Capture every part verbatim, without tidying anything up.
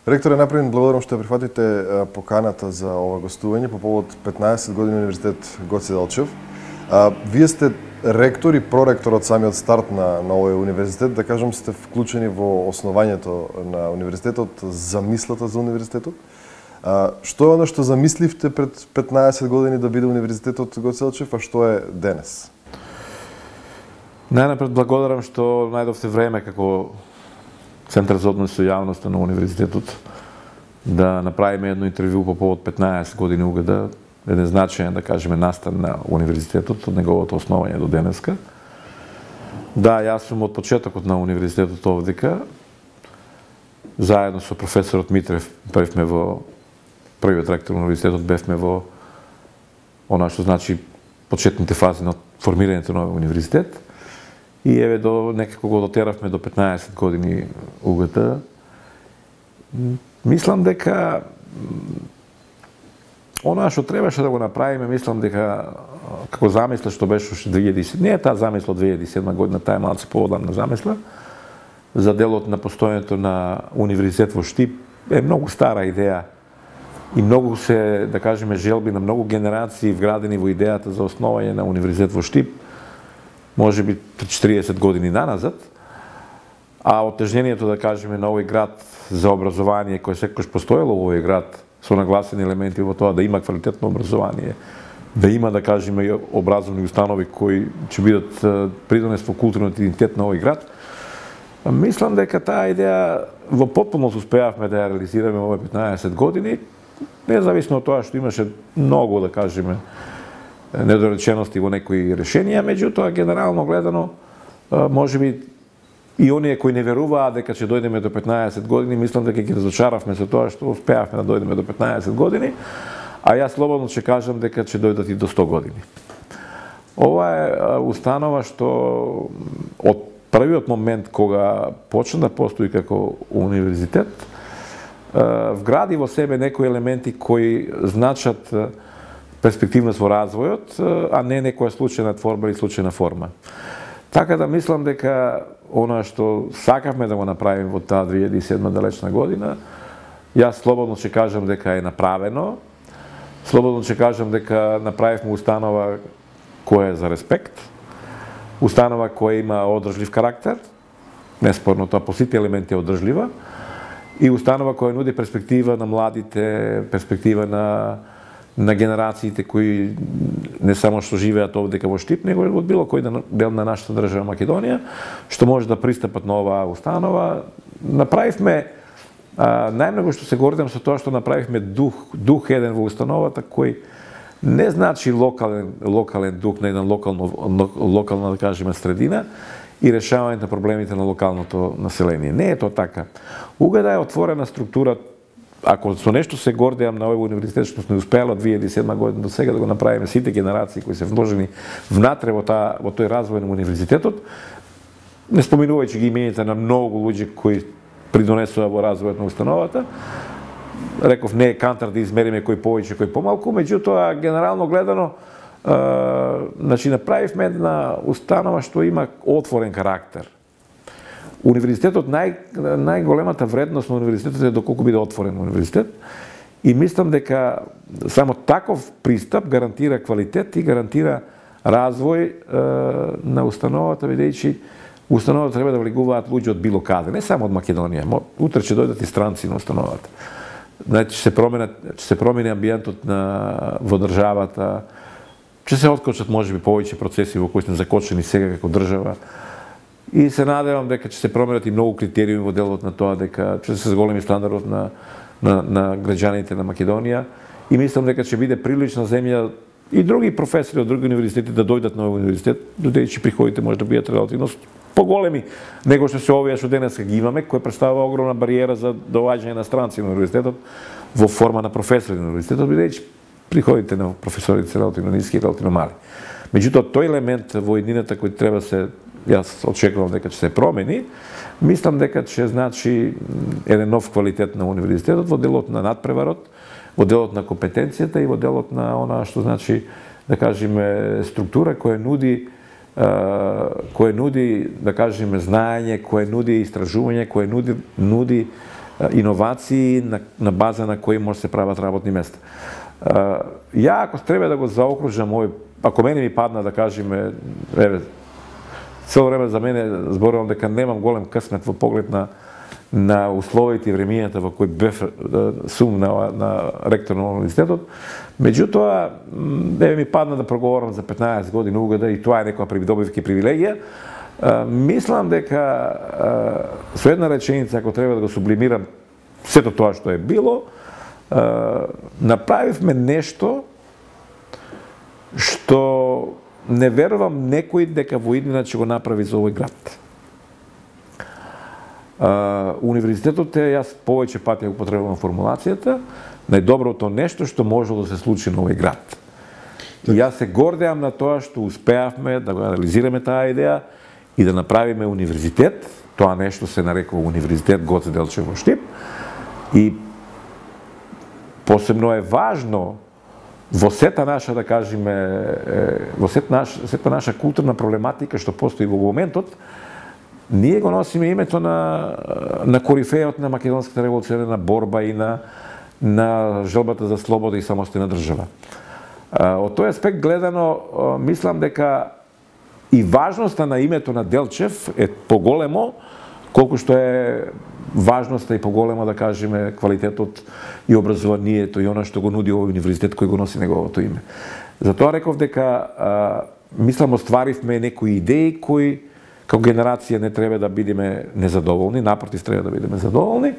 Ректоре, напред благодарам што прифатите поканата за ова гостување по повод петнаесет години Универзитет Гоце Делчев. Вие сте ректор и проректор од самиот старт на, на овој универзитет, да кажам, сте вклучени во основањето на универзитетот, замислата за универзитетот. А, што е оно што замисливте пред петнаесет години да биде Универзитетот Гоце Делчев, а што е денес? Најнапред благодарам што најдовте време како Центар за односи со јавноста на универзитетот да направиме едно интервју по повод петнаесет години УГД, еден значаен, да кажеме, настан на универзитетот од неговото основање до денеска. Да, јас сум од почетокот на универзитетот овдека. Заедно со професорот Митрев бевме во првиот ректор на универзитетот, бевме во она што значи почетните фази на формирањето на универзитет. И еве до некако го дотеравме до петнаесет години УГТ. Мислам дека она што требаше да го направиме, мислам дека како замисла што беше уште две илјади и седма, не е таа замисла од две илјади и седма година, таа е малку поодамна замисла, за делот на постојањето на универзитет во Штип е многу стара идеја и многу се, да кажеме, желби на многу генерации вградени во идејата за основање на универзитет во Штип, може би четириесет години наназад, а отежнението, да кажеме, на овој град за образование, кој секојаш постоело во овој град, со нагласени елементи во тоа да има квалитетно образование, да има, да кажеме, образовни установи кои ќе бидат придонес во културниот идентитет на овој град, мислам дека таа идеја во потполност успеавме да ја реализираме во овие петнаесет години, независно од тоа што имаше многу, да кажеме, недоречености во некои решенија, меѓутоа генерално гледано можеби и оние кои не веруваа дека ќе дојдеме до петнаесет години, мислам дека ги разочаравме со тоа што успеавме да дојдеме до петнаесет години, а јас слободно ќе кажам дека ќе дојдат и до сто години. Ова е установа што од првиот момент кога почна да постои како универзитет, вгради во себе некои елементи кои значат перспективност во развојот, а не некоја случајна творба или случајна форма. Така да мислам дека она што сакавме да го направиме во таа две илјади и седма далечна година, јас слободно ќе кажам дека е направено, слободно ќе кажам дека направивме установа која е за респект, установа која има одржлив карактер, неспорно тоа по сите елементи е одржлива, и установа која нуди перспектива на младите, перспектива на на генерациите кои не само што живеат овде во Штип, него од било кој дел на нашата држава Македонија, што може да пристапат на оваа установа. Направивме, а, најмногу што се гордам со тоа што направивме дух, дух еден во установата кој не значи локален, локален дух на една локално, локална, да кажеме, средина и решавање на проблемите на локалното население. Не е тоа така. УГД е отворена структура. Ако со нешто се гордеам на овој универзитет што сме успеале од две илјади и седма година до сега да го направиме сите генерации кои се вложени внатре во таа во тој развој на универзитетот, не споминувајќи ги имените на многу луѓе кои придонесоа во развојот на установата, реков не е кантар да измериме кој повеќе, кој помалку, меѓутоа генерално гледано, е, значи направивме една установа што има отворен карактер. Универзитетот, нај, најголемата вредност на универзитетот е доколку биде отворен универзитет и мислам дека само таков пристап гарантира квалитет и гарантира развој е, на установата, бидејќи установата треба да влегуваат луѓе од било каде, не само од Македонија. Утре ќе дојдат и странци на установата. Значи, ќе се промени, ќе се промени амбиентот на во државата, ќе се откочат можеби повеќе процеси во кои сме закочени сега како држава. И се надевам дека ќе се променат и многу критериуми во делот на тоа, дека ќе се зголеми стандардот на, на, на граѓаните на Македонија и мислам дека ќе биде прилична земја и други професори од други универзитети да дојдат на овој универзитет, додејќи приходите може да бидат релативно поголеми него што се овие што денеска ги имаме, кој представува огромна бариера за доаѓање на странци на универзитетот во форма на професори на универзитетот, бидејќи приходите на професорите се релативно ниски и релативно мали. Меѓутоа, тој елемент во еднината кој треба се, јас очекувам дека ќе се промени, мислам дека ќе значи еден нов квалитет на универзитетот во делот на надпреварот, во делот на компетенцијата и во делот на она што значи, да кажеме, структура која нуди кој нуди, да кажеме, знаење, кој нуди истражување, кој нуди, нуди иновации на, на база на кои може се прават работни места. Ја ако треба да го заокружам овој, ако мене ми падна да кажеме, еве, цело време за мене зборувам дека немам голем късмет во поглед на на условите и времењата во кои бев сум на, на ректор на универзитетот. Меѓутоа, еве ми падна да проговорам за петнаесет години угода и тоа е некоја придобивка и привилегија. Мислам дека со една реченица, ако треба да го сублимирам сето тоа што е било, направивме нешто што не верувам некој дека во иднина ќе го направи за овој град. Универзитетот е, јас повеќе пати ја употребувам формулацијата, најдоброто нешто што можело да се случи на овој град. И јас се гордеам на тоа што успеавме да го реализираме таа идеја и да направиме универзитет, тоа нешто се нарекува Универзитет Гоце Делчев во Штип, и посебно е важно во сета наша, да кажеме, во сета наша, сета наша културна проблематика што постои во моментот, ние го носиме името на, на корифејот на македонската револуционарна борба и на, на желбата за слобода и самостојна држава. Од тој аспект гледано, мислам дека и важноста на името на Делчев е поголемо, колку што е важноста и поголема, да кажеме, квалитетот и образованието и она што го нуди овој универзитет кој го носи неговото име. Затоа реков дека, мислам, остваривме некои идеи кои како генерација не треба да бидеме незадоволни, напротив треба да бидеме задоволни,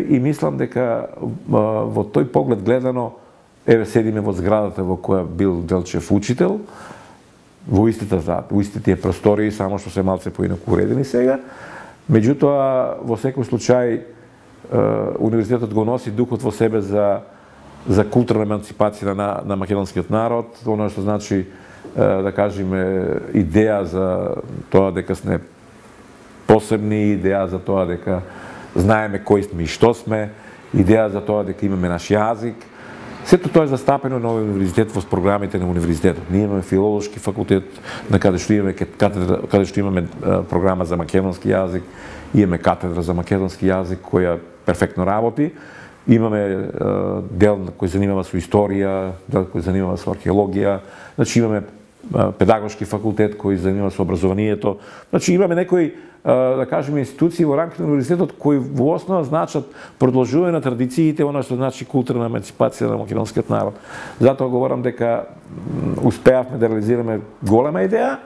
и мислам дека во тој поглед гледано, еве седиме во зградата во која бил Делчев учител, во истите во истите простории, само што се малце поинаку уредени сега. Меѓутоа, во секој случај, универзитетот го носи духот во себе за за културна еманципација на на македонскиот народ, она што значи, да кажеме, идеја за тоа дека сме посебни, идеја за тоа дека знаеме кои сме и што сме, идеја за тоа дека имаме наш јазик. Сето тоа е застапено на овој универзитет во програмите на универзитетот. Ние имаме филолошки факултет, на каде што имаме катедра, каде што имаме програма за македонски јазик, имаме катедра за македонски јазик која перфектно работи. Имаме дел кој занимава со историја, дел кој занимава со археологија, значи имаме педагошки факултет кој занимава со образованието. Значи имаме некои, да кажеме, институции во рамките на универзитетот кои во основа значат продолжување на традициите, она што значи културна еманципација на македонскиот народ. Затоа говорам дека успеавме да реализираме голема идеја.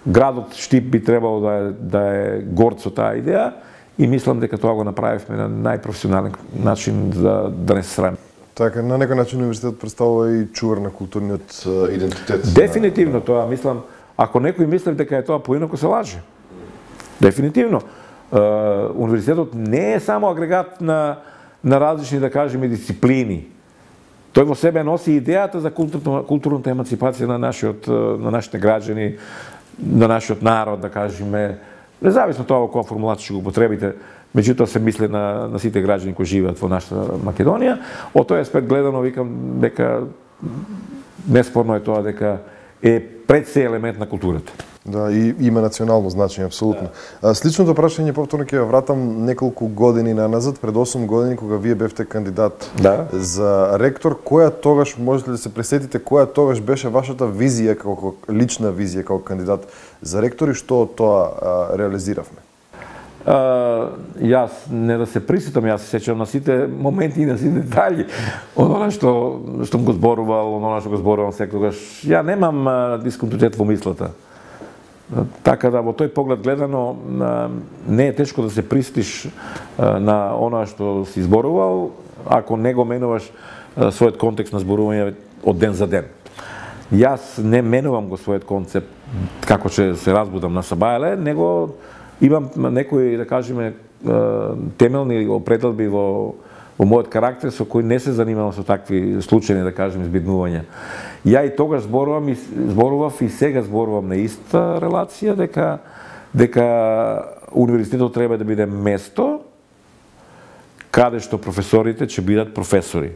Градот Штип би требало да е, да е горд со таа идеја и мислам дека тоа го направивме на најпрофесионален начин да, да не се срамиме. Така, на некој начин универзитетот представува и чувар на културниот идентитет. Дефинитивно тоа, мислам, ако некој мисли дека е тоа поинаку, се лаже. Дефинитивно. Универзитетот не е само агрегат на, на различни, да кажеме, дисциплини. Тој во себе носи идејата за културна, културната еманципација на нашиот, на нашите граѓани, на нашиот народ, да кажеме, независно тоа во која формулација ќе го употребите, меѓутоа се мисли на, на сите граѓани кои живеат во нашата Македонија. Од тој аспект гледано, викам дека неспорно е тоа дека е пред се елемент на културата. Да, и има национално значење, апсолутно. Да. Сличното прашање повторно ќе ја вратам неколку години наназад, пред осум години кога вие бевте кандидат, да, за ректор, која тогаш, можете да се пресетите, која тогаш беше вашата визија како лична визија како кандидат за ректор и што од тоа а, реализиравме? Uh, јас не да се присетам, јас се сеќавам на сите моменти и на сите детали. Оно што што го зборувал, оно што го зборувам секогаш. Ја немам uh, дисконтинуитет во мислата. Uh, така да во тој поглед гледано uh, не е тешко да се пристиш uh, на оно што си зборувал, ако не го менуваш uh, својот контекст на зборување од ден за ден. Јас не менувам го својот концепт како ќе се разбудам на сабајле, него имам некои, да кажеме, темелни определби во, во мојот карактер со кои не се занимавам со такви случајни, да кажеме, збиднувања. Ја и тогаш зборувам и зборував и сега зборувам на иста релација дека дека универзитетот треба да биде место каде што професорите ќе бидат професори.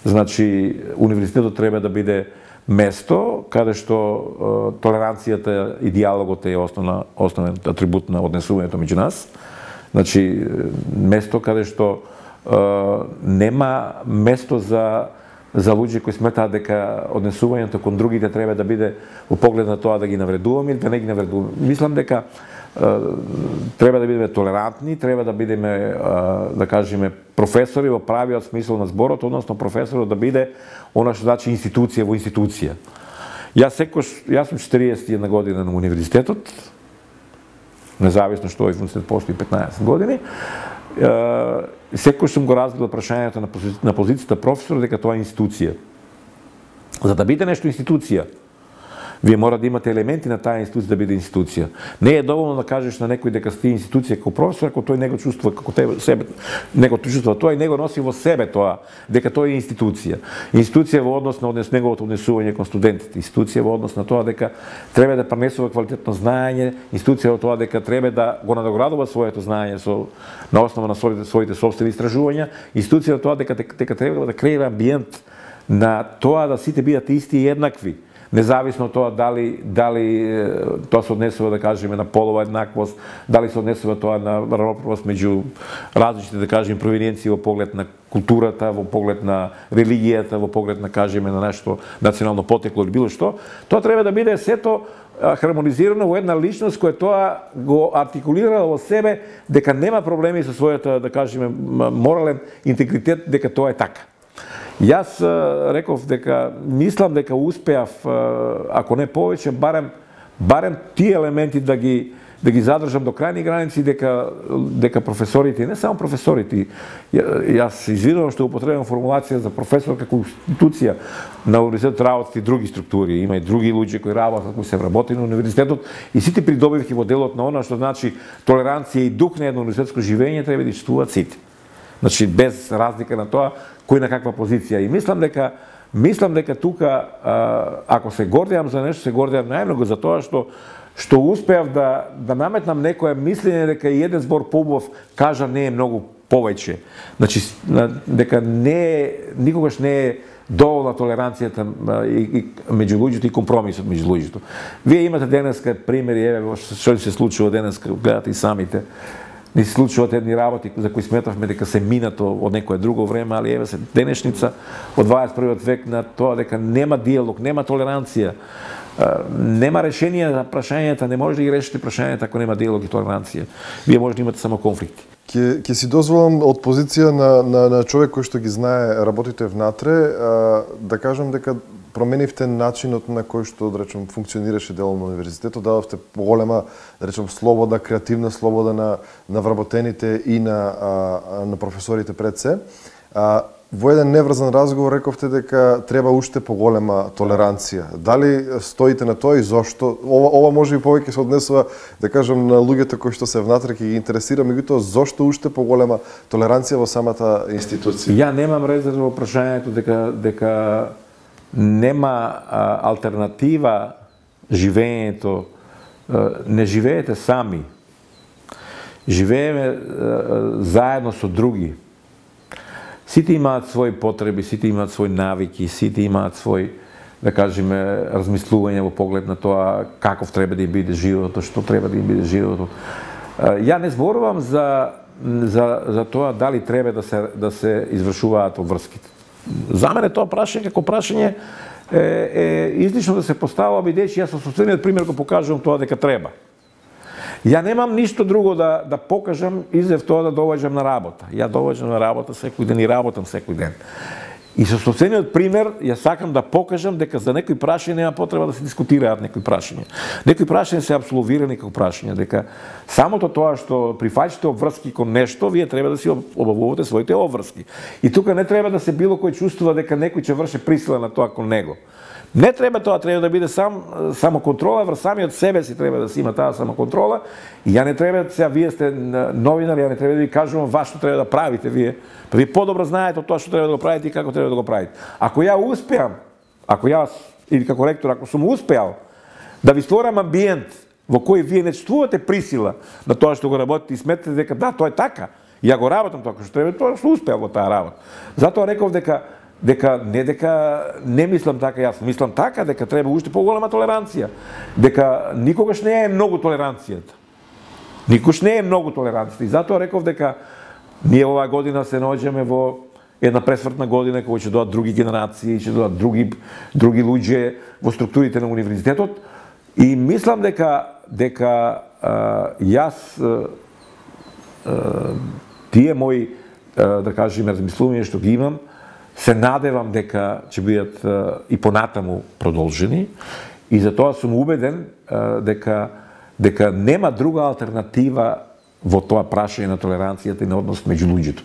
Значи универзитетот треба да биде место каде што е, толеранцијата и диалогот е основна, основен атрибут на однесувањето меѓу нас. Значи, место каде што нема место за за луѓе кои сметаат дека однесувањето кон другите треба да биде во поглед на тоа да ги навредуваме или да не ги навредуваме. Мислам дека треба да бидеме толерантни, треба да бидеме, да кажеме, професори во правиот смисол на зборот, односно професорот да биде она што значи институција во институција. Јас секош, јас сум четириесет и една година на универзитетот, независно што овој универзитет постои петнаесет години, секој сум го разгледал прашањето на, пози... на позицијата професор дека тоа е институција. За да биде нешто институција, вие мора да имате елементи на таа институција да биде институција. Не е доволно да кажеш на некој дека сте институција како професор, ако тој не го чувствува како тебе себе, не го чувствува тоа и не го носи во себе тоа, дека тој е институција. Институција во однос на однес неговото однесување кон студентите, институција во однос на тоа дека треба да пренесува квалитетно знаење, институција во тоа дека треба да го надоградува своето знаење со на основа на своите своите сопствени истражувања, институција во тоа дека дека треба да креира амбиент на тоа да сите бидат исти и еднакви. Независно од тоа дали дали тоа се однесува, да кажеме, на полова еднаквост, дали се однесува тоа на равноправност меѓу различните, да кажеме, провиненции во поглед на културата, во поглед на религијата, во поглед на, кажеме, на нашето национално потекло или било што, тоа треба да биде сето хармонизирано во една личност која тоа го артикулира во себе дека нема проблеми со својата, да кажеме, морален интегритет, дека тоа е така. Јас реков дека мислам дека успеав, ако не повеќе, барем барем тие елементи да ги да ги задржам до крајни граници, дека дека професорите, не само професорите, јас извинувам што употребувам формулација за професор како институција на универзитетот работат и други структури, има и други луѓе кои работат, кои се вработени на универзитетот и сите придобивки во делот на она што значи толеранција и дух на едно универзитетско живење треба да чувствуваат сите. Значи без разлика на тоа кој на каква позиција. И мислам дека мислам дека тука ако се гордеам за нешто, се гордеам најмногу за тоа што што успеав да да наметнам некое мислење дека и еден збор поубав кажа не е многу повеќе. Значи дека не е, никогаш не е доволна толеранцијата и, и меѓу луѓето и компромисот меѓу луѓето. Вие имате денеска примери, еве што се случува денеска, гледате и самите. Не се случуваат едни работи за кои сметавме дека се минато од некое друго време, али еве се денешница од дваесет и првиот век на тоа дека нема диалог, нема толеранција, нема решение за прашањата, не може да ги решите прашањата ако нема диалог и толеранција. Вие може да имате само конфликти. Ке, ке си дозволам од позиција на, на, на човек кој што ги знае работите внатре, а, да кажам дека променивте начинот на кој што, да речем, функционираше делом на универзитетот, дадовте поголема, да речем, слобода, креативна слобода на, на вработените и на, а, на професорите пред се. А, во еден неврзан разговор рековте дека треба уште поголема толеранција. Дали стоите на тоа и зошто? Ова, ова може и повеќе се однесува, да кажам, на луѓето кои што се внатре ќе ги интересира, меѓутоа зошто уште поголема толеранција во самата институција? Ја немам резерва во прашањето дека дека нема а, алтернатива живењето. А, не живеете сами. Живееме а, заедно со други. Сите имаат своји потреби, сите имаат своји навики, сите имаат свој, да кажеме, размислување во поглед на тоа каков треба да им биде животот, што треба да им биде животот. А, ја не зборувам за за за тоа дали треба да се да се извршуваат обврските. За мене тоа прашање како прашање е, е излишно да се поставува, бидејќи јас со собствениот пример го покажувам тоа дека треба. Ја немам ништо друго да да покажам изев тоа да доваѓам на работа. Ја доваѓам на работа секој ден и работам секој ден. И со собствениот пример ја сакам да покажам дека за некои прашања нема потреба да се дискутираат некои прашања. Некои прашања се апсолвирани како прашања, дека самото тоа што прифаќате обврски кон нешто, вие треба да си обавувате своите обврски. И тука не треба да се било кој чувствува дека некој ќе врши присила на тоа кон него. Не треба тоа, треба да биде сам самоконтрола, врз самиот себе си треба да си има таа самоконтрола. И ја не треба, сега вие сте новинари, ја не треба да ви кажувам вас што треба да правите вие. Па вие подобро знаете тоа што треба да го правите и како треба да го правите. Ако ја успеам, ако јас или како ректор, ако сум успеал да ви створам амбиент во кој вие не чувствувате присила на тоа што го работите и сметате дека да, тоа е така, ја го работам тоа што треба, тоа што успеал во таа работа. Затоа реков дека дека не дека не мислам така јас, мислам така дека треба уште поголема толеранција, дека никогаш не е многу толеранцијата. Никош не е многу толерантни. И затоа реков дека ние оваа година се наоѓаме во една пресвртна година кога ќе дојдат други генерации, ќе дојдат други други луѓе во структурите на универзитетот и мислам дека дека а, јас а, а, тие мои а, да кажеме размислувања што ги имам се надевам дека ќе бидат а, и понатаму продолжени и затоа сум убеден а, дека дека нема друга алтернатива во тоа прашање на толеранцијата и на однос меѓу луѓето.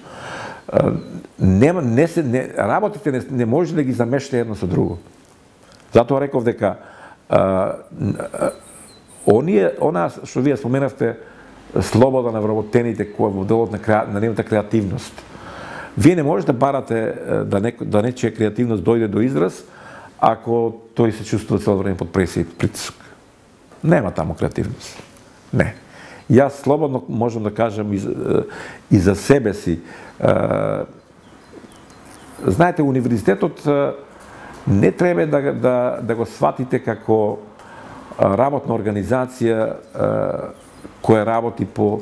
Нема не се не, работите не, не може да ги замешате едно со друго. Затоа реков дека а, а, оние она што вие споменавте слобода на вработените која во делот на, на нивната креативност. Вие не можете да барате да некој да нечија креативност дојде до израз ако тој се чувствува цело време под пресија и притиск. Нема таму креативност. Не. Јас слободно можам да кажам и за, и за себе си. Знаете, универзитетот не треба да, да, да го сватите како работна организација која работи по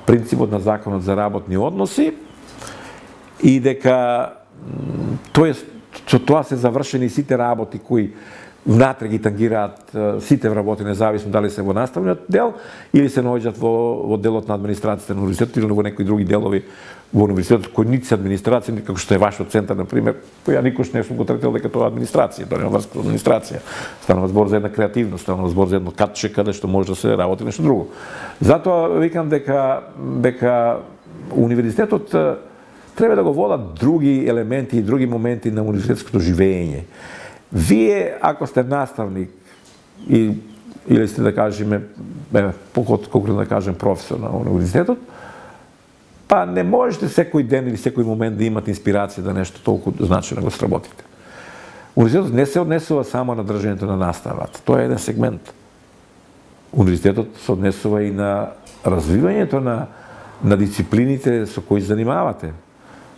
принципот на Законот за работни односи и дека тој со тоа се завршени сите работи кои внатре ги тангираат сите вработи, независно дали се во наставниот дел или се наоѓаат во, во делот на администрацијата на универзитетот или во некои други делови во универзитетот кои нити се администрација, нити како што е вашиот центар, например, кој ја никош не сум го третирал дека тоа е администрација, тоа нема врска со администрација. Станува збор за една креативност, станува збор за едно катче каде што може да се работи нешто друго. Затоа викам дека дека универзитетот треба да го водат други елементи и други моменти на универзитетското живење. Вие, ако сте наставник и, или сте, да кажеме, колку да кажем, професор на универзитетот, па не можете секој ден или секој момент да имате инспирација да нешто толку значено го сработите. Универзитетот не се однесува само на држањето на наставата. Тоа е еден сегмент. Универзитетот се однесува и на развивањето на, на дисциплините со кои занимавате.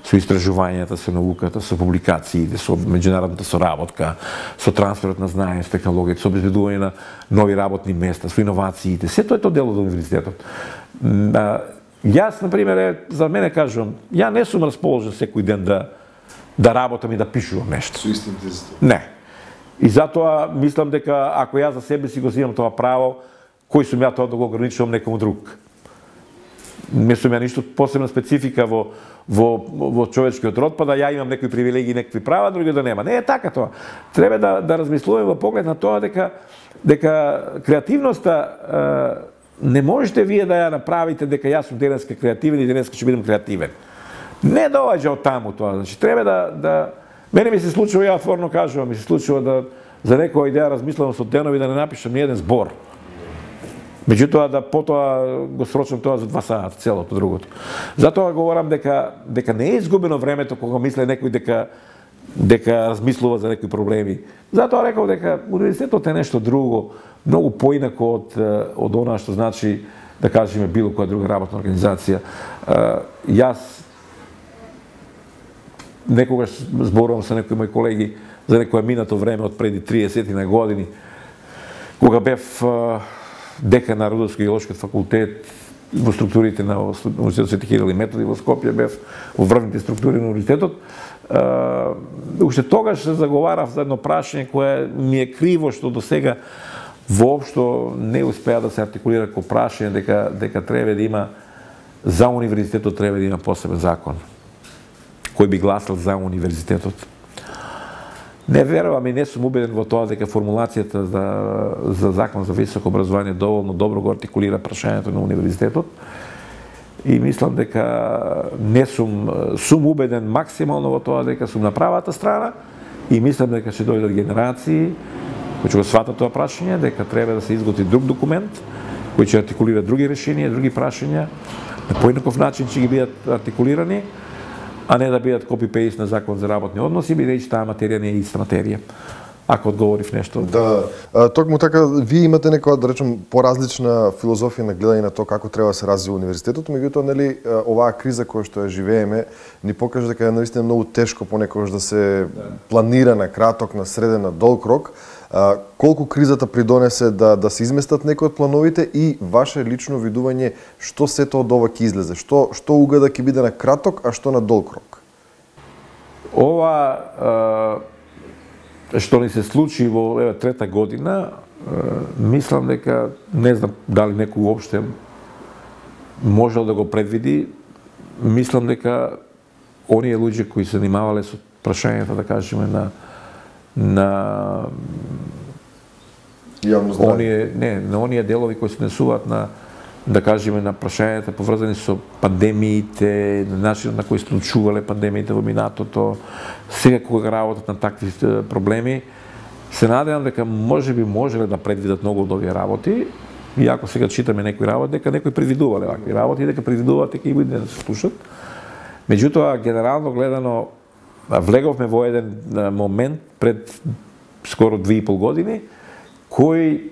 Со истражувањата, со науката, со публикациите, со меѓународната соработка, со трансферот на знаење, со технологија, со обезбедување на нови работни места, со иновациите. Сето е тоа дел од универзитетот. Јас, например, за мене кажувам, ја не сум расположен секој ден да да работам и да пишувам нешто. Со исти интензитет. Не. И затоа мислам дека ако јас за себе си го земам тоа право, кој сум ја тоа да го ограничувам некому друг? Не сум ја ништо посебна специфика во во во човечкиот род, па да ја имам некои привилегии, некои права, други да нема. Не е така тоа. Треба да да размислуваме во поглед на тоа дека дека креативноста е, не можете вие да ја направите дека јас сум денеска креативен и денеска ќе бидам креативен. Не доаѓа од таму тоа. Значи треба да да мене ми се случува, ја отворно кажувам, ми се случува да за некоја идеја размислувам со денови да не напишам ни еден збор. Меѓутоа да потоа го срочам тоа за два сата, целото другото. Затоа говорам дека дека не е изгубено времето кога мисле некој дека дека размислува за некои проблеми. Затоа реков дека универзитетот е нешто друго, многу поинако од од она што значи да кажеме било која друга работна организација. Јас некогаш зборувам со некои мои колеги за некое минато време од преди триесет на години кога бев декан на Рудовско-геолошкиот факултет во структурите на Универзитетот Свети Кирил и Методи во Скопје, бев во врвните структури на универзитетот. Уште тогаш се заговарав за едно прашање кое ми е криво што до сега воопшто не успеа да се артикулира како прашање дека дека треба да има за универзитетот треба да има посебен закон кој би гласал за универзитетот. Не верувам и не сум убеден во тоа дека формулацијата за, за закон за високо образование доволно добро го артикулира прашањето на универзитетот и мислам дека не сум сум убеден максимално во тоа дека сум на правата страна и мислам дека ќе дојдат генерации кои ќе го сватат тоа прашање, дека треба да се изготви друг документ кој ќе артикулира други решенија, други прашања, на поинаков начин ќе ги бидат артикулирани, а не да бидат копи-пейст на закон за работни односи, бидејќи таа материја не е иста материја. Ако одговорив нешто. Да, а, токму така, вие имате некоја, да речем, поразлична филозофија на гледање на тоа како треба да се развива универзитетот, меѓутоа, нели, оваа криза која што ја живееме, ни покажа дека е наистина многу тешко понекогаш да се планира на краток, на среден, на долг рок. А, колку кризата придонесе да да се изместат некои од плановите и ваше лично видување што сето од ова ќе излезе? Што што угада ќе биде на краток, а што на долг рок? Ова е, што ни се случи во еве трета година, е, мислам дека не знам дали некој уопште можел да го предвиди. Мислам дека оние луѓе кои се занимавале со прашањата, да кажеме, на на јавно здравје, оние не на оние делови кои се несуваат на, да кажеме, на прашањата поврзани со пандемиите, на начинот на кој се случувале пандемиите во минатото, сега кога работат на такви проблеми, се надевам дека можеби можеле да предвидат многу од овие работи. Иако сега читаме некои работи, дека некои предвидувале вакви работи, дека предвидуваат дека и буде да се слушат. Меѓутоа, генерално гледано, влеговме во еден момент пред скоро две и пол години, кој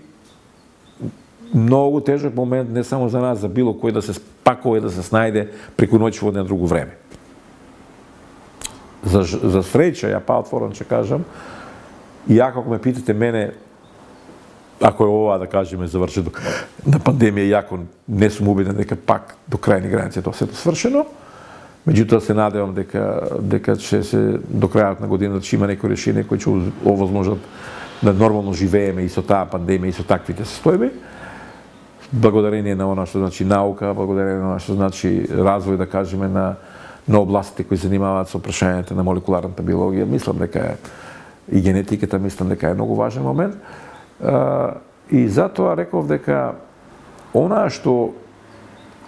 многу тежок момент не само за нас, за било кој да се спакува и да се снајде преку ноќ во едно друго време. За, за среќа, ја па отворено ќе кажам, иако ако ме питате мене, ако е ова, да кажеме, завршено на пандемија, иако не сум убеден дека пак до крајни граници тоа сето свршено, меѓутоа се надевам дека дека ќе се до крајот на годината ќе има некои решение кои ќе овозможат да нормално живееме и со таа пандемија и со таквите состојби. Благодарение на она што значи наука, благодарение на она што значи развој, да кажеме, на на областите кои се занимаваат со прашањата на молекуларната биологија, мислам дека е и генетиката, мислам дека е многу важен момент. Uh, и затоа реков дека она што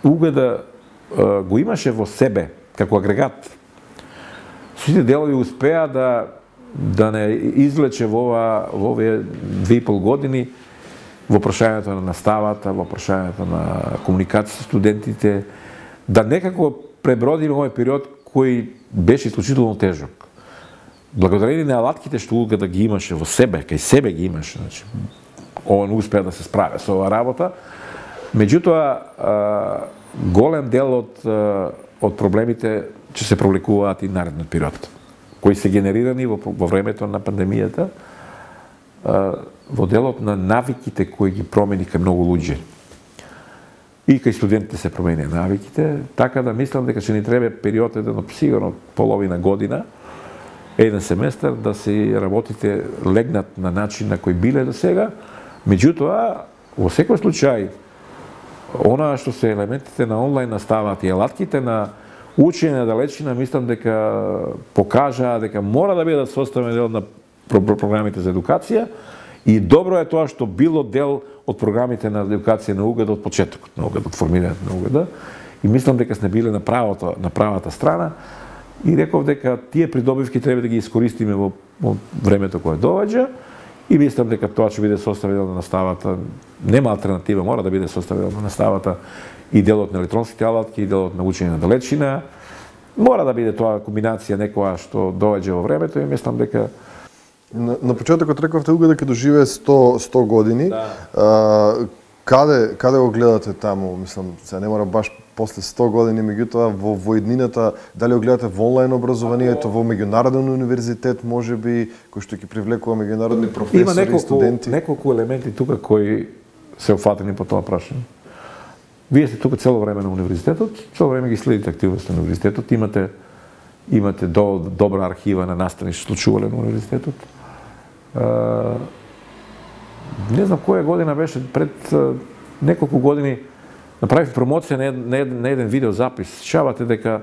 угада uh, го имаше во себе како агрегат, сите делови успеа да да не извлече во ова во овие две и пол години во прашањето на наставата, во прашањето на комуникација со студентите, да некако пребродиме овој период кој беше исклучително тежок. Благодарение на алатките што угада ги имаше во себе, кај себе ги имаше, значи, он успеа да се справи со оваа работа. Меѓутоа, голем дел од, од проблемите ќе се провлекуваат и наредниот период, кои се генерирани во, во времето на пандемијата, во делот на навиките кои ги промени кај многу луѓе. И кај студентите се промени навиките, така да мислам дека ќе ни треба период еден, сигурно половина година, еден семестар, да се работите легнат на начин на кој биле до сега. Меѓутоа, во секој случај, она што се елементите на онлайн наставата и алатките на учење на далечина, мислам дека покажаа дека мора да бидат составен дел на програмите за едукација и добро е тоа што било дел од програмите на едукација на угада од почетокот на угада, од формирањето на угада, и мислам дека сме биле на правата, на правата страна. И реков дека тие придобивки треба да ги искористиме во, во времето кое доаѓа и мислам дека тоа ќе биде составено на наставата. Нема алтернатива, мора да биде составено на наставата и делот на електронските алатки, и делот на учење на далечина. Мора да биде тоа комбинација некоја што доаѓа во времето и мислам дека на, на почетокот рековте угада ќе доживее сто, сто години. Да. А, каде каде го гледате таму? Мислам, се не мора баш после сто години, меѓутоа во во иднината, дали го гледате во онлайн образованието, во меѓународен универзитет, можеби, кој што ќе привлекува меѓународни професори, има неколку, студенти? Има неколку елементи тука кои се офатени по тоа прашање. Вие сте тука цело време на универзитетот, цело време ги следите активности на универзитетот, имате имате до, добра архива на настани што случувале на универзитетот. Uh, не знам која година беше, пред uh, неколку години направив промоција на, на, на еден видеозапис. Сеќавате дека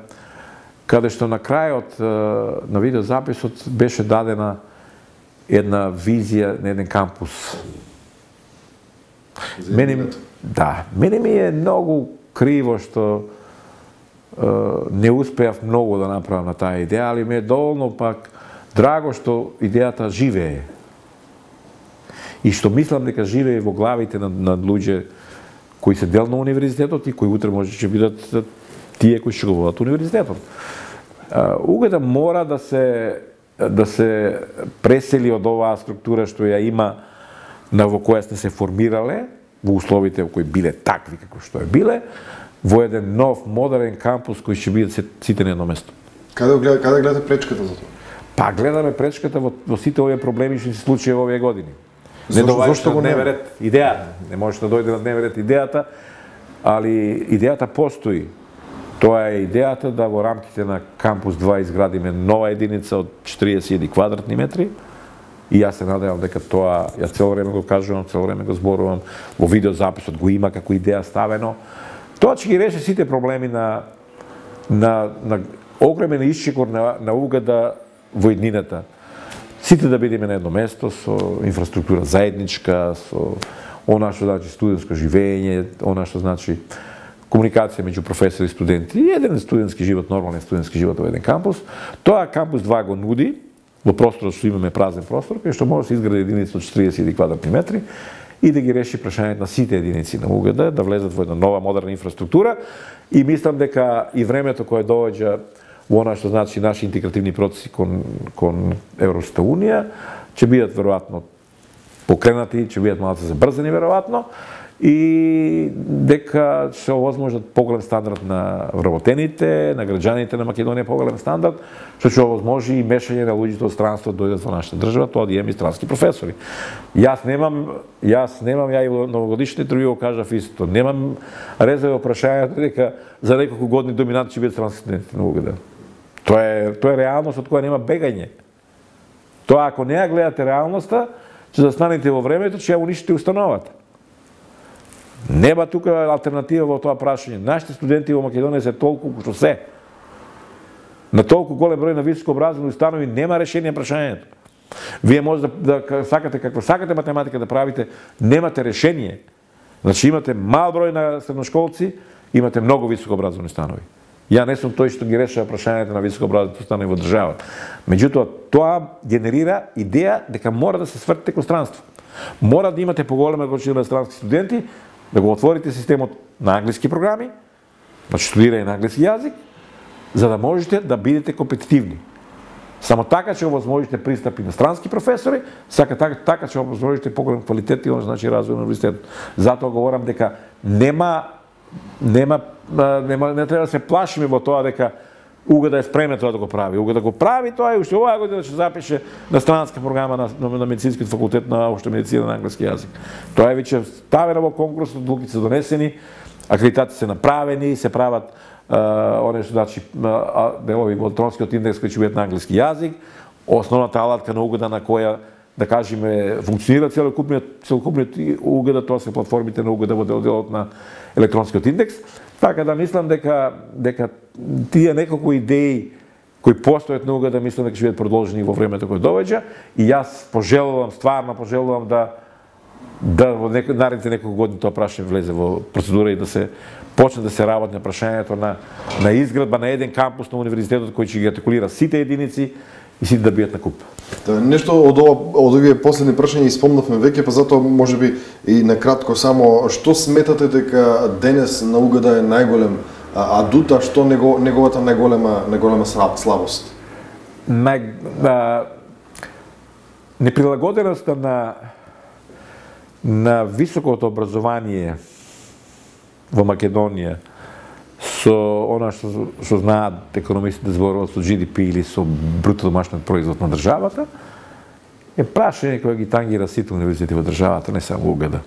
каде што на крајот uh, на видеозаписот беше дадена една визија на еден кампус. Мене, да, мене ми е многу криво што uh, не успеав многу да направам на таа идеја, али ми е доволно пак драго што идејата живее. И што мислам дека живее во главите на, на луѓе кои се дел на универзитетот и кои утре може ќе бидат тие кои ќе го водат универзитетот. Угада мора да се да се пресели од оваа структура што ја има на во која сте се формирале, во условите во кои биле такви како што е биле, во еден нов модерен кампус кој ќе биде сите на едно место. Каде гледате, каде гледате пречката за тоа? Па гледаме пречката во, во сите овие проблеми што се случија во овие години. Не доаѓаше на дневен ред идејата. Не може да дојде на дневен ред идејата, али идејата постои. Тоа е идејата да во рамките на кампус два изградиме нова единица од четириесет квадратни метри. И јас се надевам дека тоа, ја цело време го кажувам, цело време го зборувам, во видеозаписот го има како идеја ставено. Тоа ќе ги реши сите проблеми на на на огромен исчекор на на угада во иднината. Сите да бидеме на едно место со инфраструктура заедничка, со она што значи студентско живење, она што значи комуникација меѓу професори и студенти, и еден студентски живот, нормален студентски живот во еден кампус. Тоа кампус два го нуди, во просторот што имаме празен простор, кај што може да се изгради единица од четириесет квадратни метри и да ги реши прашањето на сите единици на угада, да влезат во една нова модерна инфраструктура, и мислам дека и времето кое доаѓа во она што значи наши интегративни процеси кон кон Европската унија ќе бидат веројатно покренати, ќе бидат малку забрзани веројатно, и дека ќе овозможат поголем стандард на вработените, на граѓаните на Македонија поголем стандард, што ќе овозможи и мешање на луѓето од странство да дојдат во нашата држава, тоа да имаме и странски професори. Јас немам, јас немам, ја и во новогодишните интервју го кажав исто, немам резерва во прашањето дека за неколку години доминант ќе бидат странски студенти на угада. Тоа е тоа е реалност од која нема бегање. Тоа ако не ја гледате реалноста, ќе застанете во времето, ќе ја унишите установата. Нема тука алтернатива во тоа прашање. Нашите студенти во Македонија се толку што се. На толку голем број на високо образовани установи нема решение прашањето. Вие може да, да сакате какво сакате математика да правите, немате решение. Значи имате мал број на средношколци, имате многу високо образовани установи. Ја не сум тој што ги решава прашањето на високо образовани установи во државата. Меѓутоа, тоа генерира идеја дека мора да се свртите кон странство. Мора да имате поголема количина странски студенти, да го отворите системот на англиски програми, значи студирање на англиски јазик, за да можете да бидете компетитивни. Само така ќе овозможите пристапи на странски професори, сака така, така ќе овозможите поголем квалитет и значи развој на универзитетот. Затоа говорам дека нема нема нема не треба да се плашиме во тоа дека угада е спремен тоа да го прави. Угада го прави тоа и уште оваа година ќе запише на странска програма на, на, на медицинскиот факултет на општа медицина на англиски јазик. Тоа е веќе ставено во конкурс, одлуки се донесени, акредитации се направени, се прават оне што значи делови во електронскиот индекс кои ќе бидат на англиски јазик, основната алатка на угада на која да кажеме функционира целокупниот целокупниот угада, тоа се платформите на угада во делот на електронскиот индекс. Така да мислам дека дека тие неколку идеи кои постојат на угада, мислам дека ќе бидат продолжени во времето кое доаѓа, и јас пожелувам, стварно пожелувам да да во нек... наредните неколку години тоа прашање влезе во процедура и да се почне да се работи на прашањето на на изградба на еден кампус на универзитетот кој ќе ги артикулира сите единици и сите да бидат на куп. Да, нешто од ова, од овие последни прашања испомнавме веќе, па затоа можеби и на кратко само што сметате дека денес на угада е најголем адута, што него, неговата најголема најголема слабост? Нај а, неприлагоденоста на на високото образование во Македонија со она што што знаат економистите зборуваат со Джи Ди Пи или со бруто домашен производ на државата, е прашање кое ги тангира сите универзитети во државата, не само угада.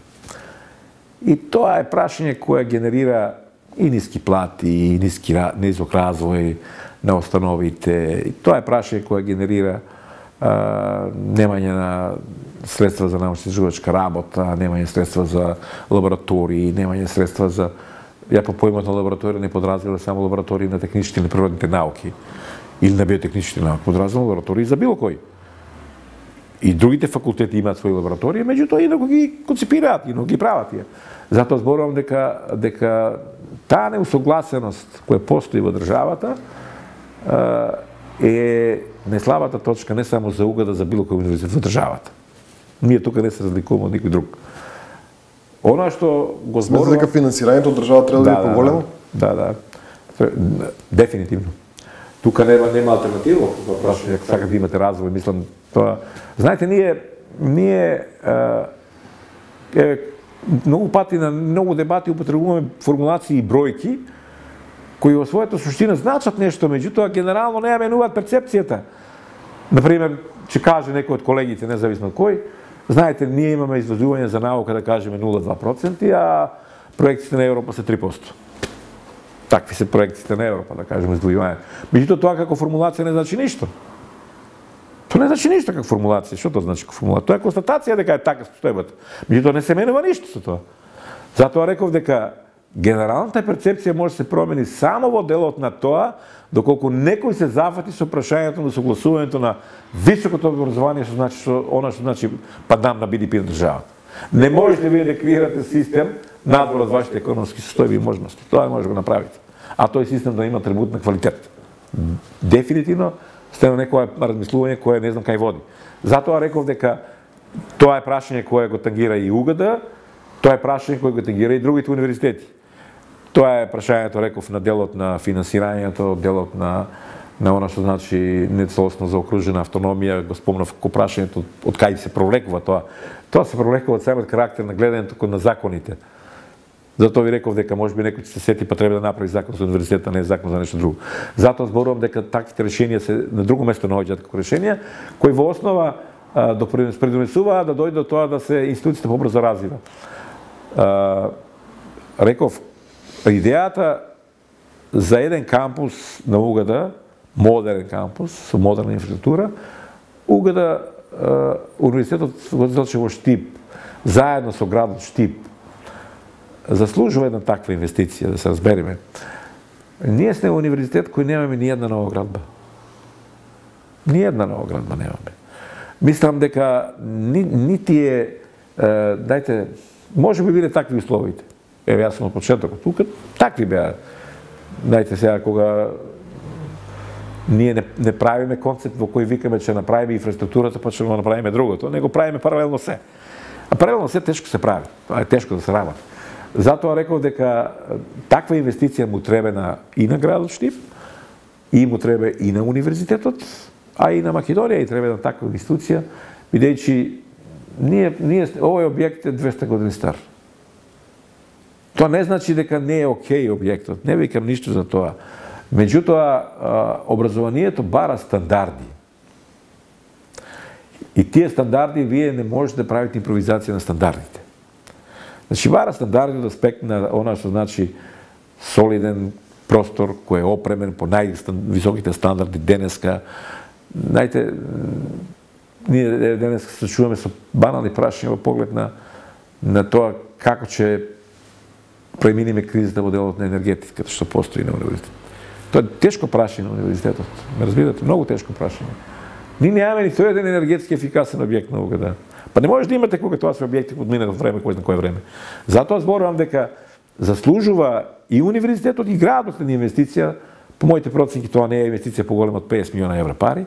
И тоа е прашање кое генерира и ниски плати, и ниски низок развој на установите. И тоа е прашање кое генерира а, немање на средства за научно-изследовачка работа, немање средства за лаборатории, немање средства за... Ја по поимот на лабораторија не подразбирам само лаборатории на техничките или природните науки или на биотехничките науки, подразбирам лаборатории за било кој. И другите факултети имаат своји лаборатории, меѓутоа инаку ги концепираат, инаку ги прават тие. Затоа зборувам дека дека таа неусогласеност која постои во државата е неслабата точка не само за угада, за било кој универзитет во државата. Ние тука не се разликуваме од никој друг. Она што го зборувам... Смета дека финансирањето од државата треба да биде поголемо? Да, да. Дефинитивно. Тука нема нема алтернатива, тоа прашање, ако сакате да имате развој, мислам тоа. Знаете, ние ние е многу пати на многу дебати употребуваме формулации и бројки кои во својата суштина значат нешто, меѓутоа генерално не ја менуваат перцепцијата. Например, ќе каже некој од колегите, независно од кој, Знаете, ние имаме извозување за наука, да кажеме, нула целу две проценти, а проекциите на Европа се три проценти. Такви се проекциите на Европа, да кажеме, издвојување. Меѓутоа, тоа како формулација не значи ништо. Тоа не значи ништо како формулација. Што тоа значи како формулација? Тоа е констатација дека е така состојбата. Меѓутоа, не се менува ништо со тоа. Затоа реков дека генералната перцепција може да се промени само во делот на тоа доколку некој се зафати со прашањето на согласувањето на високото образование, што значи што она што значи падам на Би Ди Пи на државата. Не можете вие да креирате систем надвор од вашите економски состојби и можности. Тоа може да го направите. А тој систем да има атрибут на квалитет. Дефинитивно сте на некоја размислување кое не знам кај води. Затоа реков дека тоа е прашање кое го тангира и У Г Д, тоа е прашање кое го тангира и другите универзитети. Тоа е прашањето, реков, на делот на финансирањето, делот на на она што значи нецелосно заокружена автономија, го спомнав ко прашањето од кај се провлекува тоа. Тоа се провлекува од самиот карактер на гледањето кон на законите. Затоа ви реков дека можеби некој ќе се сети па треба да направи закон за универзитета, не е закон за нешто друго. Затоа зборувам дека таквите решенија се на друго место наоѓаат како решенија, кои во основа допринесуваат да дојде до тоа да се институцијата побрзо развива. Реков, идејата за еден кампус на У Г Д, модерен кампус, со модерна инфраструктура, У Г Д, универзитетот Гоце Делчев во Штип, заедно со градот Штип, заслужува една таква инвестиција, да се разбереме. Ние сме универзитет кој немаме ни една нова градба. Ни една нова градба немаме. Мислам дека ни, нити е, е, дајте, може би биле такви условите. Еве, јас сум од почетокот тука, такви беа. Дајте сега, кога ние не, не правиме концепт во кој викаме че направиме инфраструктурата, па ќе го направиме другото, него правиме паралелно се. А паралелно се тешко се прави. Тоа е тешко да се работи. Затоа реков дека таква инвестиција му требена и на градот Штип, и му треба и на универзитетот, а и на Македонија и треба таква институција, бидејќи ние, ние, овој објект е двесте години стар. Тоа не значи дека не е окей објектот, не викам ништо за тоа. Меѓутоа, образованието бара стандарди. И тие стандарди вие не можете да правите импровизација на стандардите. Значи, бара стандарди од аспект на она што значи солиден простор кој е опремен по највисоките стандарди денеска. Знаете, ние денеска се чуваме со банални прашања во поглед на, на тоа како ќе преминиме кризата во делот на енергетиката што постои на универзитетот. Тоа е тешко прашање на универзитетот. Ме разбирате, многу тешко прашање. Ние немаме ни тој еден енергетски ефикасен објект на У Г Д. Па не може да имате кога тоа се објекти од минато време, кој знае кое време. Затоа зборувам дека заслужува и универзитетот и градот на инвестиција, по моите проценки тоа не е инвестиција поголема од песет милиона евра пари,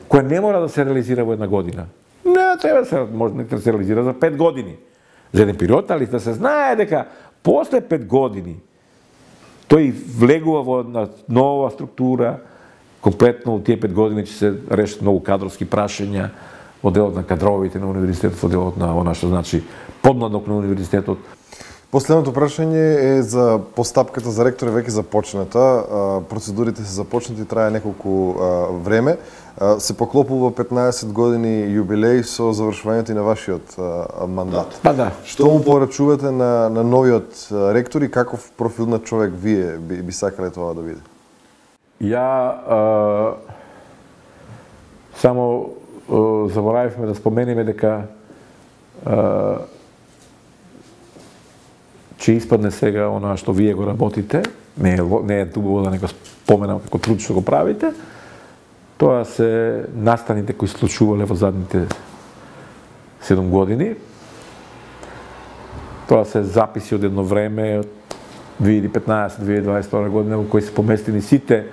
која не мора да се реализира во една година. Не, треба да се, може да се реализира за пет години. За еден период, али да се знае дека после пет години тој влегува во една нова структура, комплетно од тие пет години ќе се решат многу кадровски прашања во делот на кадровите на универзитетот, во делот на она што значи подмладок на универзитетот. Последното прашање е за постапката за ректор е веќе започната. Процедурите се започнати, трае неколку време. Се поклопува петнаесет години јубилеј со завршувањето и на вашиот мандат. Па да. Што му порачувате на, на новиот ректор и каков профил на човек вие би, би сакале тоа да биде? Ја а, само а, заборавивме да спомениме дека а, че испадне сега она што вие го работите, не е, не е тубаво да не го споменам како труд што го правите, тоа се настаните кои случувале во задните седум години. Тоа се записи од едно време, две илјади и петнаесета - две илјади и дваесет и втора година, во кои се поместени сите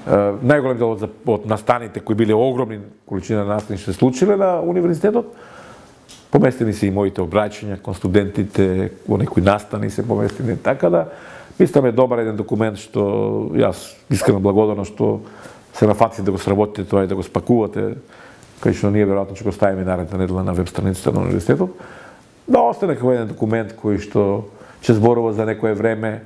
најголем дел од настаните кои биле огромни количина настани што се случиле на универзитетот. Поместени се и моите обраќања кон студентите, во некои настани се поместени, така да мислам е добар еден документ што јас искрено благодарам што се нафатите да го сработите тоа и да го спакувате, кај што ние веројатно ќе го ставиме наредна недела на веб страницата на универзитетот, да остане како еден документ кој што ќе зборува за некое време,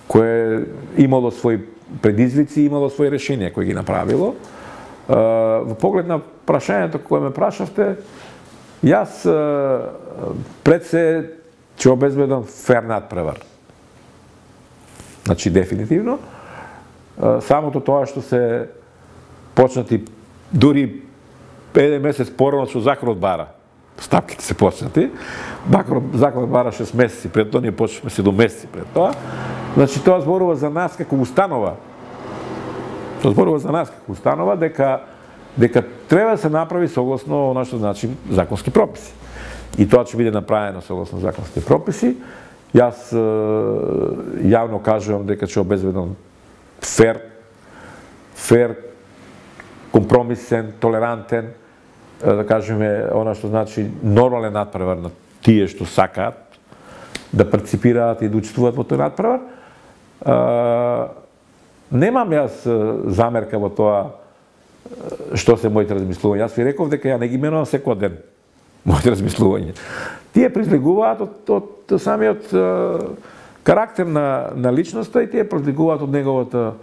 кое имало своји предизвици, имало своји решенија кои ги направило. Во поглед на прашањето кое ме прашавте, Јас пред се ќе обезбедам фер надпревар. Значи, дефинитивно. Самото тоа што се почнати дури еден месец порано што законот бара. Стапките се почнати. Законот бара шест месеци пред тоа, ние почнавме седум месеци пред тоа. Значи, тоа зборува за нас како установа. Тоа зборува за нас како установа дека дека треба да се направи согласно она што значи законски прописи. И тоа ќе биде направено согласно законски прописи. Јас јавно кажувам дека ќе обезбедам фер, фер, компромисен, толерантен, да кажеме, она што значи нормален надпревар на тие што сакаат да парципираат и да учествуваат во тој надпревар. Немам јас замерка во тоа што се моите размислувања. Јас ви реков дека ја не ги менувам секој ден моите размислувања. Тие произлегуваат од, од самиот карактер на, на личноста и тие произлегуваат од неговата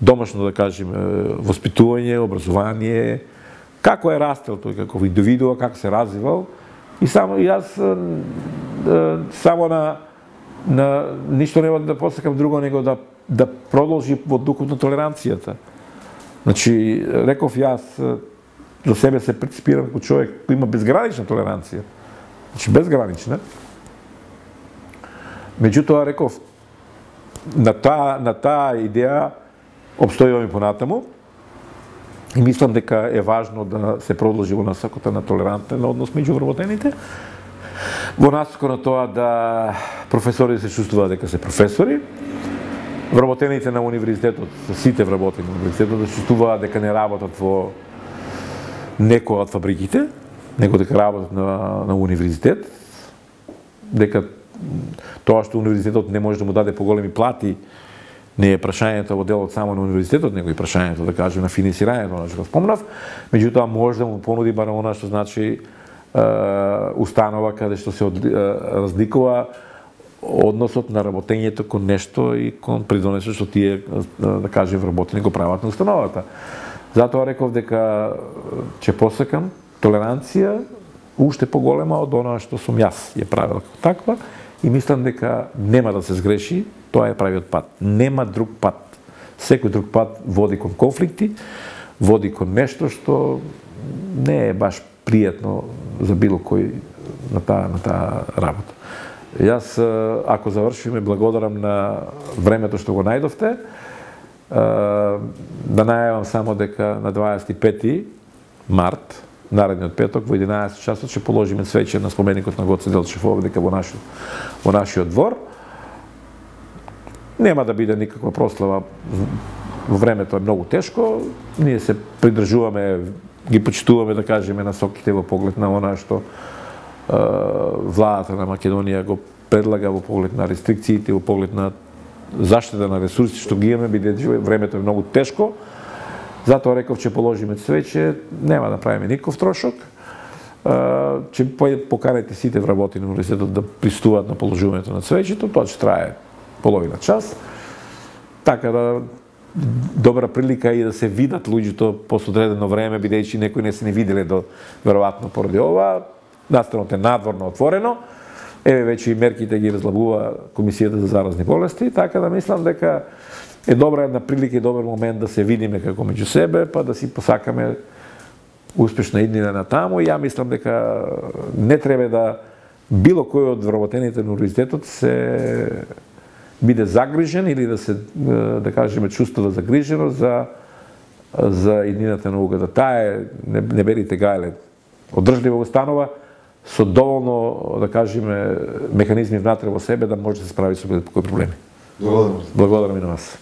домашно, да кажеме, воспитување, образование, како е растел тој како индивидуа, како се развивал. И само и јас само на на ништо нема да посакам друго него да да продолжи во духот на толеранцијата. Значи, реков јас за себе се преципирам како човек кој има безгранична толеранција. Значи, безгранична. Меѓутоа, реков, на таа, на таа идеја обстојуваме понатаму и мислам дека е важно да се продолжи во насоката на толерантен однос меѓу вработените, во насока на тоа да професорите се чувствуваат дека се професори, вработените на универзитетот, сите вработени на универзитетот да чувствуваат дека не работат во некоја од фабриките, него дека работат на, на универзитет, дека тоа што универзитетот не може да му даде поголеми плати не е прашањето во делот само на универзитетот, него и прашањето, да кажем, на финансирањето, на што спомнав, меѓутоа може да му понуди барем она што значи установа каде што се разликува односот на работењето кон нешто и кон придонесот што тие, да кажем, вработени го прават на установата. Затоа реков дека ќе посекам толеранција уште поголема од она што сум јас ја правила како таква и мислам дека нема да се сгреши, тоа е правиот пат. Нема друг пат. Секој друг пат води кон конфликти, води кон нешто што не е баш пријатно за било кој на таа на таа работа. Јас, ако завршиме, благодарам на времето што го најдовте. Да најавам само дека на дваесет и пети март, наредниот петок, во единаесет часот ќе положиме свеќе на споменикот на Гоце Делчев овде дека во нашиот, во нашиот двор. Нема да биде никаква прослава, времето е многу тешко, ние се придржуваме, ги почитуваме, да кажеме, насоките во поглед на она што владата на Македонија го предлага во поглед на рестрикциите, во поглед на заштита на ресурси што ги имаме, бидејќи времето е многу тешко. Затоа реков ќе положиме свеќе, нема да правиме никаков трошок. Ќе поканите сите вработени на универзитетот да пристуваат на положувањето на свеќето, тоа ќе трае половина час. Така да добра прилика и да се видат луѓето после одредено време, бидејќи некои не се не виделе до веројатно поради ова. Настанот е надворно отворено. Еве веќе и мерките ги разлабува Комисијата за заразни болести, така да мислам дека е добра една прилика и добар момент да се видиме како меѓу себе, па да си посакаме успешна иднина на таму. И ја мислам дека не треба да било кој од вработените на универзитетот се биде загрижен или да се, да кажеме, чувствува загрижено за за иднината на угата. Таа е, не, не берите гајле, одржлива установа со доволно, да кажеме, механизми внатре во себе да може да се справи со било кои проблеми. Благодарам. Благодарам и на вас.